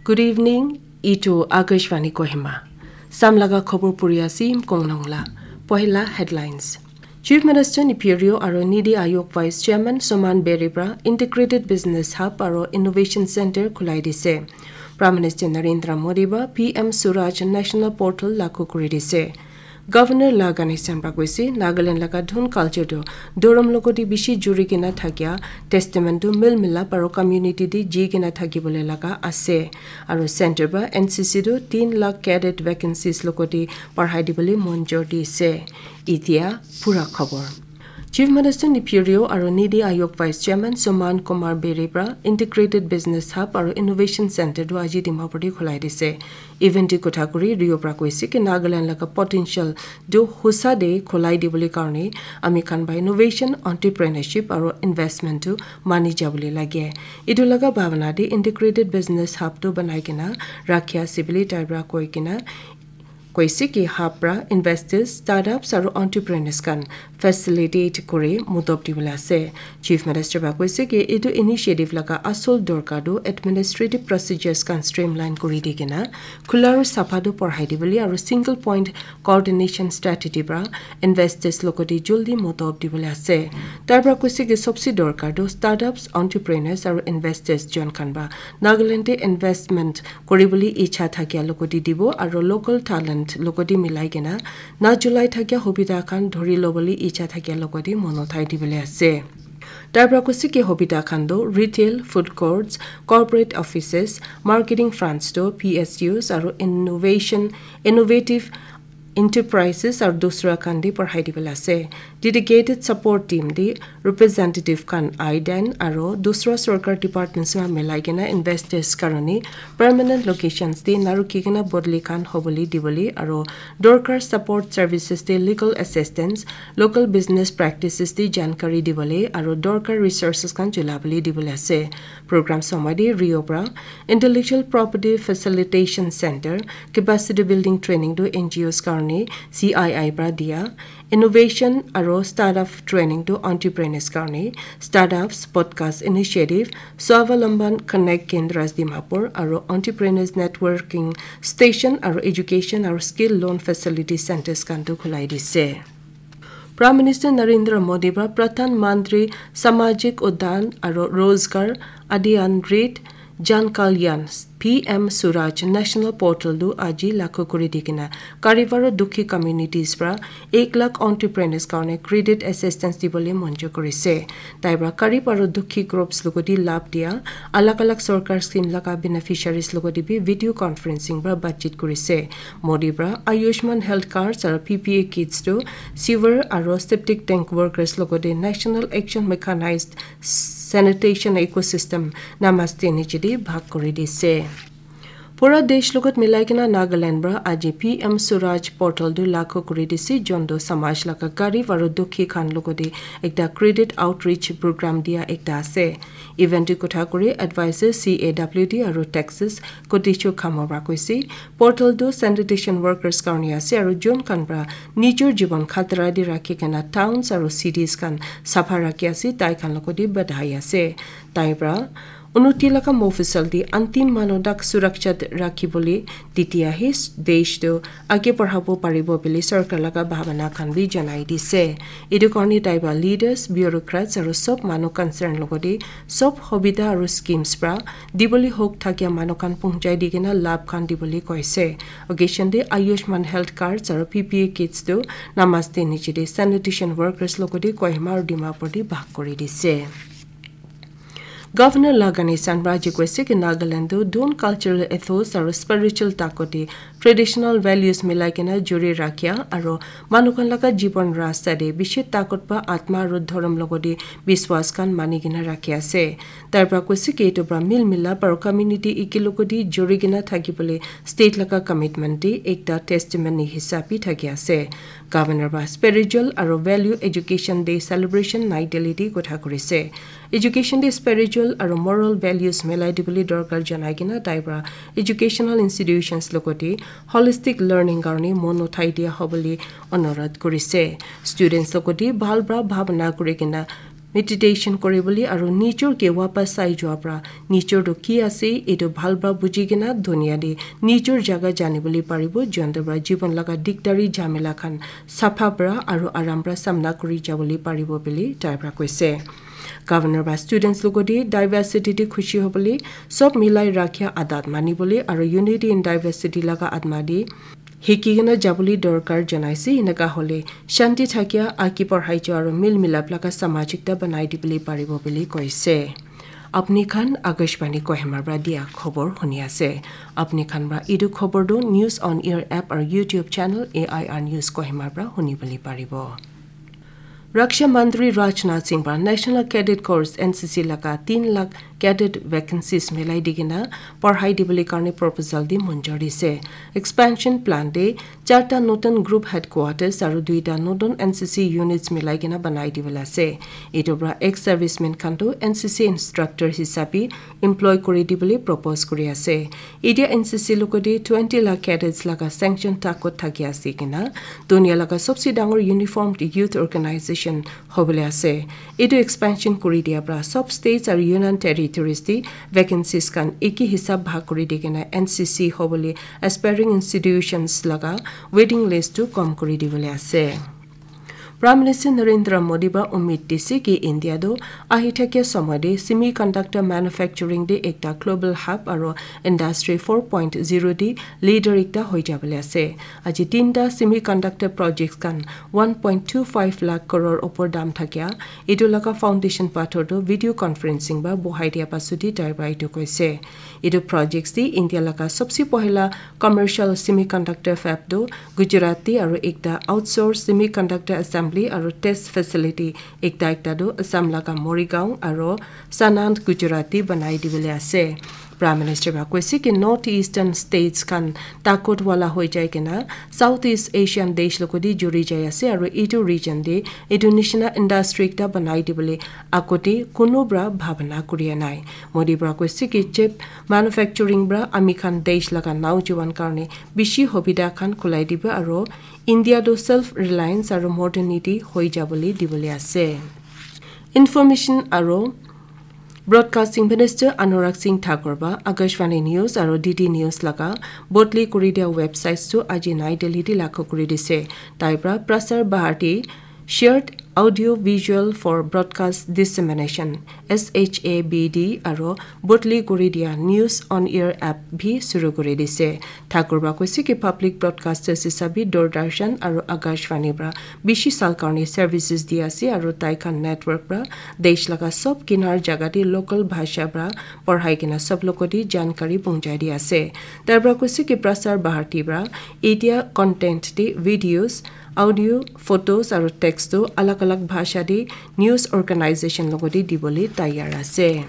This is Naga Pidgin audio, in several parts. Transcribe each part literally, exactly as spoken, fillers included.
Good evening, itu Akashvani Kohima. Samlaga khobor puri ase Imkong Nongla. Pohila headlines. Chief Minister Neiphiu Rio aro Niti Aayog Vice Chairman Suman Beri pra Integrated Business Hub aro Innovation Center khulai dise. Prime Minister Narendra Modi pra P M Swaraj National Portal lagu kuri dise. Governor La Ganesan pra koise, Nagaland laga dhun culture tu dhorom logoti bishi juri kena thakia, testament tu mil milap aro community te ji kena thaki bole laga ase. Aro center pra N C C tu tin lakh cadet vacancies logoti parhai dibole monjor dise. Itia pura khobor. Chief Minister Neiphiu Rio aro Niti Aayog Vice Chairman Suman Kumar Beri pra Integrated Business Hub aro Innovation Center tu aji Dimapur te khulai dise. Event te kotha kuri Rio pra koise ki Nagaland laga potential tu husa de khulai dibole karne ami khan ba innovation, entrepreneurship aro investment tu mani jabole lage. Itu laga bhabana de Integrated Business Hub tu banai kena rakhia ase bole tai pra koi kena koise ki hub pra investors, startups aro entrepreneurs khan facilitate kuri mudop dibole ase. Chief Minister pra koise ki itu initiative laga asol dorkar tu administrative procedures khan streamline kuri di kena khula aro sapha tu porhai dibole aro single point coordination strategy pra investors logoti joldi mudop dibole ase. Tai pra koise ki sobse dorkar tu startups, entrepreneurs aro investors jon khan pra Nagaland te investment kuribole icha thakia logoti dibo aro local talent logoti milai kena na julai thakia hobita khan dhuri lobole icha thakia logoti mono thai dibole ase. Tai pra koise ki hobita khan tu retail, food courts, corporate offices, marketing fronts tu P S Us aro innovation, innovative enterprises aro dusra khan de parhai dibole ase. Dedicated support team de representative khan aiden aro dusra sorkar departments khan milai kena investors karone permanent locations de narukhi kena bodli khan hobole dibole aro dorkar support services de legal assistance, local business practices de jankari dibole aro dorkar resources khan chulabole dibole ase. Program somoi de Rio pra Intellectual Property Facilitation Center, Capacity Building Training to N G Os karone C I I pra dia, Innovation aro Startup Training to Entrepreneurs karone, Startups Podcast Initiative, Swavalamban Connect Kendras Dimapur aro Entrepreneurs Networking Station aro Education aro Skill Loan Facility Centers khan tu khulai dise. Prime Minister Narendra Modi pra Pradhan Mantri Samajik Udyan aro Rozgar Adhyaran Rit Jan Kalyan P M Swaraj National Portal tu aji lagu kuri di kena garib aro dukhi communities pra ek lakh entrepreneurs karone credit assistance dibole monjor kurise. Tai pra garib aro dukhi groups logoti labh dia alag alag sorkar scheme laga beneficiaries logoti bi video conferencing pra batchit kurise. Modi pra Ayushman Health Cards aro P P A kits tu sewer aro septic tank workers logote National Action Mechanized Sanitation Ecosystem Namaste niche de bhag kuri dise. Pura desh logot milai kena Nagaland pra aji P M Swaraj portal tu lagu kuri dise, jonto samaj laga garib aro dukhi khan logote ekta credit outreach program dia ekta ase. Event te kotha kuri advisor C A W D aro taxes Kotichu Khamor pra koise, portal tu sanitation workers karone ase aro jon khan pra nijor jibon khatra te rakhi kena towns aro cities khan sapha rakhi ase, tai khan logote badhai ase. Tai pra unnoti laga mofusal te antim manu tak surakshat rakhi bole, titiya he desh tu age barhabo paribo bole sorkar laga bhabana khan bi janai dise. Etu karone tai pra leaders, bureaucrats aro sob manu concern logote sob hobita aro schemes pra dibole hok thakia manu khan pohonchai di kena labh khan dibole koise. Occasion te Ayushman Health Cards aro P P A kits tu Namaste niche de sanitation workers logote Kohima aro Dimapur te bhag kuri dise. Governor La Ganesan pra aji koise ki Nagaland tu dhun cultural ethos aro spiritual takote traditional values milai kena juri rakhia aro manu khan laga jibon rasta te bishi takot pa atma aro dhorom logote biswas khan mani kena rakhi ase. Tai pra koise ki etu pra mil milap aro community eke logote juri kena thaki bole state laga commitment te ekta testimony hisab bi thaki ase. Governor pra spiritual aro value education day celebration Nai Delhi te kotha kurise. Education te spiritual aro moral values milai dibole dorkar janai kena tai pra educational institutions logote holistic learning karone mon uthai dia hobole onurodh kurise. Students logote bhal pra bhabana kuri kena meditation kuribole aru nijor ke wapas sai jua pra nijor tu ki ase etu bhal pra buji kena dunia te nijor jaga janibole paribo, jonte pra jibon laga dikdari jamela khan sapha pra aru aram pra samna kuri jabole paribo bole tai pra koise. Governor pra students logote diversity te khushi hobole sob milai rakhia adat manibole aru unity in diversity laga atma te hiki kena jabole dorkar janaise, eneka hole shanti thakia, aki parhai jo aru mil milap laga samaj ekta banai dibole paribo bole koise. Apni khan Akashvani Kohima pra dia khobor huni ase. Apni khan pra etu khobor tu News on Air app aru YouTube channel A I R News Kohima pra huni bole paribo. Raksha Mantri Rajnath Singh pra National Cadet Corps N C C laga tin lakh cadet vacancies milai di kena parhai dibole karne proposal di monjor dise. Expansion plan de charta notun group headquarters aru duita notun N C C units milai kena banai dibole ase. Etu pra ex-servicemen khan tu N C C instructor hisabe employ kuri dibole propose kuri ase. Etia N C C logote twenty lakh cadets laga sanction takot thaki ase kena dunia laga sobse dangor uniformed youth organization hobole ase. Etu expansion kuri dia pra sob states aru union territories te vacancies khan eki hisab bhag kuri di kena N C C hobole aspiring institutions laga waiting list tu kom kuri dibole ase. Prime Minister Narendra Modi pra umid dise ki India tu ahi thakia somoy te semiconductor manufacturing te ekta global hub aru industry four point zero te leader ekta hoi jabole ase. Aji tinta semiconductor projects khan one point two five lakh crore opor dam thakia etu laga foundation pathor tu video conferencing pra bohai dia pasudi tai pra etu koise. Etu projects te India laga sobse pohila commercial semiconductor fab tu Gujarat te aru ekta outsourced semiconductor assembly aru test facility ekta ekta tu Assam laga Morigaon aru Sanand Gujarat te banai dibole ase. Prime Minister pra koise ki North Eastern states khan takot wala hoi jai kena South East Asian desh logote juri jai ase aru etu region te etu nishina industry ekta banai dibole agote kunu pra bhabana kuria nai. Modi pra koise ki chip manufacturing pra ami khan desh laga naujuwan karne bishi hobida khan khulai dibo aru India tu self reliance aru modernity hoi jabole dibole ase. Information aru Broadcasting Minister Anurag Singh Thakur ba Akashvani News aru D D News laga bodli kuri dia websites tu aji Nai Delhi te lakho kuri dise. Tai pra Prasar Bharati Shared Audio Visual for Broadcast Dissemination, S H A B D, aru bodli kuri dia News on Air app bhi shuru kuri dise. Thakur ba koise ki public broadcasters hisabe Doordarshan aru Akashvani pra bishi sal karne services di ase aru tai khan network pra desh laga sob kinar jaga te local bhasha pra porhai kena sob logote jankari punjai di ase. Tai pra koise ki Prasar Bharati pra etia content te videos, audio, photos aru text tu alag alag bhasha te news organization logote dibole tayar ase.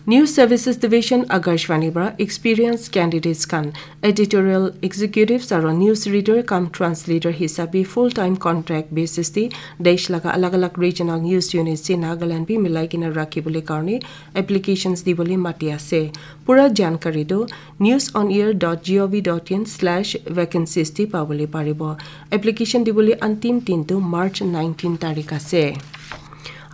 News Services Division Akashvani pra experienced candidates khan editorial executives aru news reader cum translator hisabe full time contract basis te desh laga alag alag regional news units te Nagaland bi milai kena rakhi bole karne applications dibole mati ase. Pura jankari tu news on air dot gov dot in slash vacancies te pabole paribo. Application dibole antim din tu March nineteen tarik ase.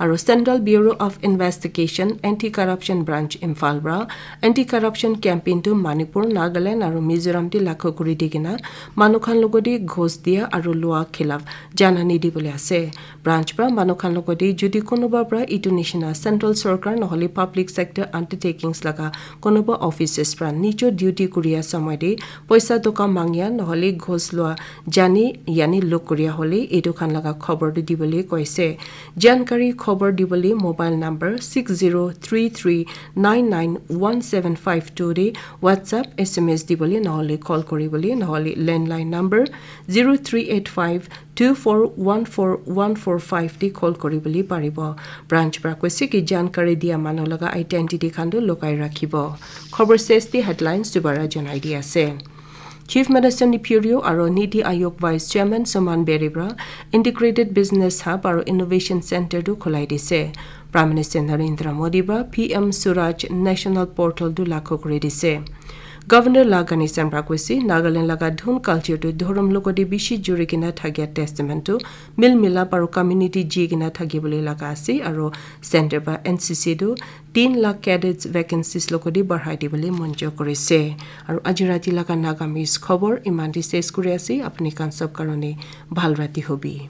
Aru Central Bureau of Investigation Anti Corruption Branch Imphal pra anti corruption campaign tu Manipur, Nagaland aru Mizoram te lakho kuri di kena manu khan logote ghus dia aru lua khilaf janani dibole ase. Branch pra manu khan logote jodi kunuba pra etu nishina central sorkar nohole public sector undertakings laga kunuba offices pra nijor duty kuria somoy te poisa toka mangya nohole ghus lua jani yani luk kuria hole etu khan laga khobor tu dibole koise. Jankari khobor dibole mobile number six zero three three nine nine one seven five two te WhatsApp, S M S dibole nohole call kuribole nohole landline number zero three eight five two four one four one four five te call kuribole paribo. Branch pra koise ki jankari dia manu laga identity khan tu lukai rakhibo. Khobor ses te headlines dubara janai di ase. Chief Minister Neiphiu Rio aru Niti Aayog Vice Chairman Suman Beri pra Integrated Business Hub aru Innovation Center tu khulai dise. Prime Minister Narendra Modi pra P M Swaraj National Portal tu lakho kuri dise. Governor la Ganesan pra koise, Nagaland laga dhun culture tu dhorom logode bishi juri kena thakia testament tu mil milap aru community ji kena thaki bole laga ase, aru center pra N C C tu tin lakh cadets vacancies logode bahai dibole monjur korise. Aru aji rati laga Nagamese khobor iman te ses kuri ase, apni khan sob karone bhal rati hobi.